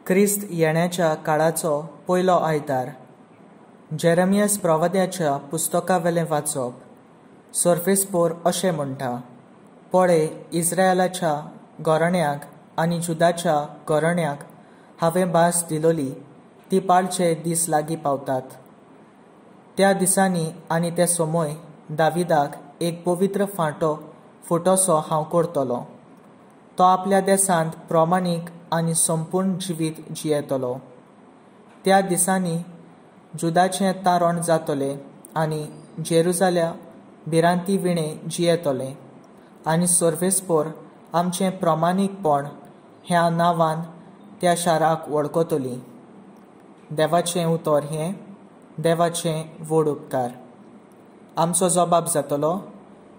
क्रिस्त येण्याच्या काळाचो पयलो आयतार. जेरेमियस प्रवाद्याच्या पुस्तकावेलें वाचप. सर्वेस्पोर अशें म्हणटा, पळय, इस्रायलाच्या घराण्याक आनी जुदाच्या घराण्याक हांवें भास दिलोली ती पाळचे दीस लागीं पावतात. त्या दिसांनी आनी ते समय दाविदाक एक पवित्र फांटो फुटोसो हांव करतलो. तो आपल्या देशांत प्रमाणीक आनी संपूर्ण जिवीत जियेतलो. त्या दिसांनी जुदाचें तारण जातलें आनी जेरुजाल्या भिरांती विणें जियेतलें आनी सर्वेस्पोर आमचें प्रमाणीकपण ह्या नांवान त्या शाराक वळखतली. देवाचें उतर हें देवाचें व्हड उपकार. आमचो जबाब जातलो,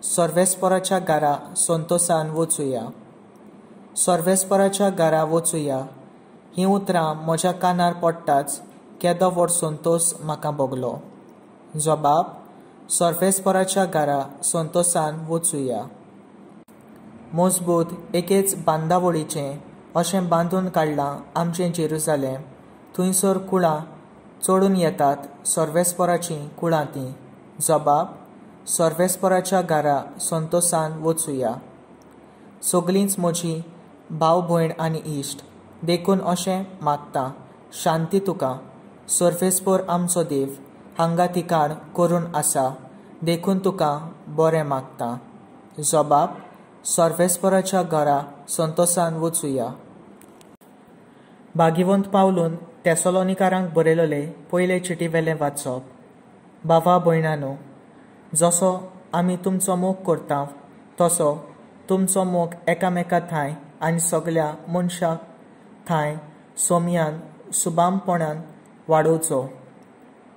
सर्वेस्पोराच्या घरा संतोसान वचुया. सर्वेस्पोराच्या घरा वचुया हीं उतरां म्हज्या कानार पडटाच केदो व्हड संतोस म्हाका भोगलो. जबाब, सर्वेस्पोराच्या घरा संतोसान वचुया. मजबूत एकेच बांदावळीचें अशें बांदून काडलां आमचें जेरुजालेम. थंयसर कुळां चडून येतात सर्वेस्पोराचीं कुळां तीं. जबाब, सर्वेस्पोराच्या घरा संतोसान वचुया. सगळींच म्हजी भाव भयण आनी इश्ट, देखून अशें मागता, शांती तुका. सर्वेस्पोर आमचो देव हांगा ठिकाण करून आसा, देखून तुका बरें मागता. जबाब, सर्वेस्पोराच्या घरा संतोसान वचुया. भागिवंत पावलून तेसलोनिकारांक बरयलेले पयले चिटीवेलें वाचप. भावा भयणानो, जसो आमी तुमचो मोग करता तसो तुमचो मोग एकामेका ठांय आनी सगल्या मनशां ठांय सोमयान सुबामपणान वाडोवचो.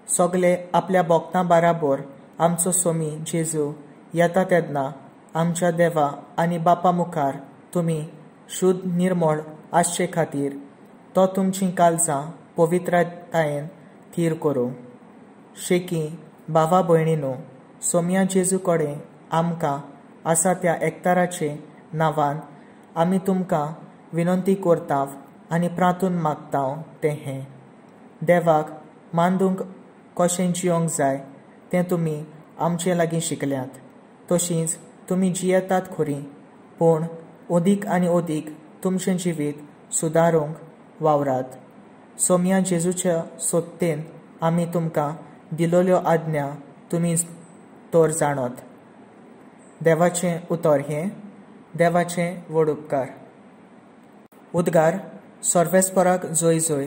सगले आपल्या भक्तां बराबर आमचो सोमी जेजू येता तेन्ना आमच्या देवा आनी बापा मुखार तुमी शुद्ध निर्मळ आसचे खातीर तो तुमचीं काळजां पवित्रतायेन थीर करूं. शेकी भावा भयणीनो, सोमया जेजू कडेन आमकां आसा त्या एकताराचे नांवान आमी तुमकां विनंती करताव आनी प्रांतून मागताव तें हें, देवाक मांदूंक कशें जियोंक जाय तें तुमी आमचे लागीं शिकल्यात, तशींच तुमी जियेतात खरी, पूण अदीक आनी अदीक तुमचें जिवीत सुदारूंक वावरात. सोमया जेजूच्या सोत्तेन आमी तुमकां दिलोल्यो आज्ञा तुमी तर जाणत. देवाचें उतर हें देवाचें व्हड उपकार. उद्गार, सर्वेस्पोराक जय जय.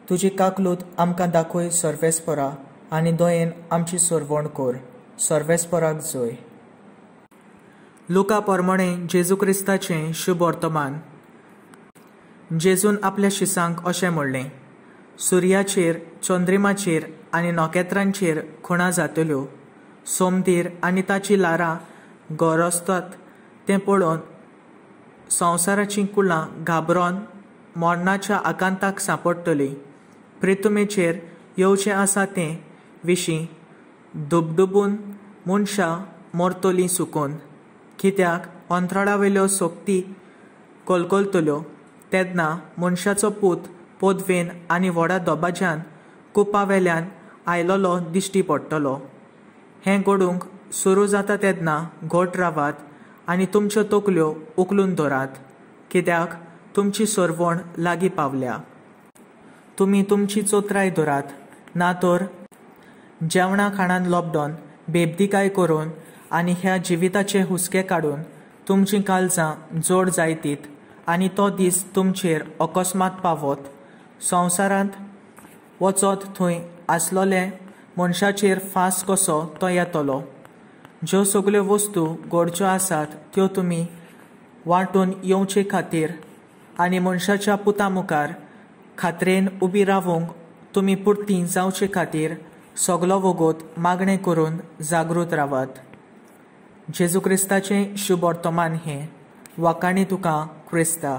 तुजी काकलूत आमकां दाखय सर्वेस्पोरा, आनी दयेन आमची सरवण कर. सर्वेस्पोराक जय. लुका परमणे जेजू क्रिस्ताचें शुभ वर्तमान. जेजून आपल्या शिसांक अशें म्हणलें, सुर्याचेर, चंद्रिमाचेर आनी नखेत्रांचेर खुणा जातल्यो. सोमदीर आनी ताची ल्हारां गरजतात तें पळोवन संवसाराचीं कुळां घाबरोन मरणाच्या आकांताक सांपडटलीं. प्रितुमेचेर येवचें आसा तें विशीं दुबदुबून मनशां मरतलीं सुकून, कित्याक अंतराळावेल्यो सोक्ती कलकलतल्यो. तेन्ना मनशाचो पूत पदवेन आनी व्हडा दबाज्यान कुपावेल्यान आयलोलो दिश्टी पडटलो. हें घडूंक सुरू जाता तेन्ना घट रावात आनी तुमच्यो तकल्यो उखलून धरात, कित्याक तुमची सरवण लागीं पावल्या. तुमी तुमची चोत्राय धरात, ना तर जेवणा खाणान लॉकडावन बेबदिकाय करून आनी ह्या जिविताचे हुस्के काडून तुमचीं काळजां जोड जायतीत आनी तो दीस तुमचेर अकस्मात पावत. संवसारांत वचत थंय आसलोले मनशाचेर फांस कसो तो येतलो. ज्यो सगल्यो वस्तू घडच्यो आसात त्यो तुमी वांटून येवचे खातीर आनी मनशाच्या पुता मुखार खात्रेन उबी रावूंक तुमी पुरती जावचे खातीर सगलो वगत मागणें करून जागृत रावात. जेजू क्रिस्ताचें शुभ वर्तमान हें. वाखाणी तुका क्रिस्ता.